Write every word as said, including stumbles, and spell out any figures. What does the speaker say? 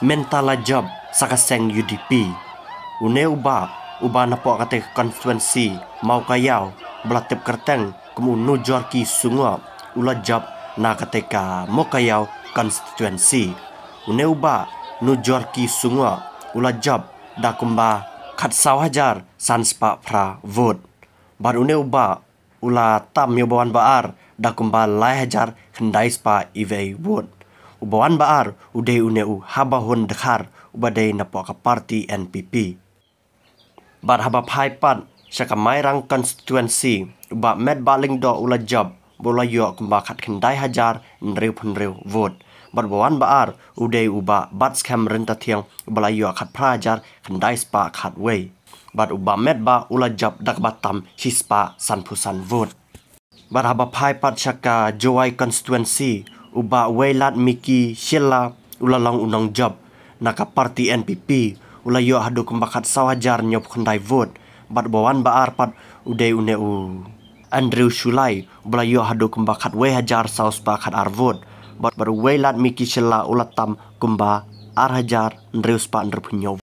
mentala job sakaseng U D P. Une uba uba napok kate constituency mau kayau belatip kerteng kemu nujor ki sungwa ula job na kateka mau kayau constituency. Une uba nujor ki sungwa ula job da kumba khat saw hajar sanspa pra vote. Bar une uba ula tam yobawan baar da kumba lai hajar kendai spa ivei vote. Ubawan baar uday une u habahun dekhar ubadai napok ka parti N P P. Bar haba phai pat syakamai rang constituency uba med baling do ula job bola yo kumba khat kendai hajar nreu punreu vote. Bar bawan baar uday uba bat scam renta thiang bala yo khat pra hajar kendai spa khat wei. Bar uba med ba ula job dak batam hispa sanpusan vote. Bar haba phai pat syaka Jowai constituency uba weilat miki shilla ula long unang job naka parti N P P ula yo hadu kumbakat sawajar nyop kendai vote. Bat bawan baar pat uday une u Andrew Shulai ula yo hadu kumbakat we hajar saus bakat ar vote. Bat baru weilat miki shilla ula tam kumba ar hajar Andrew spa nrpunyo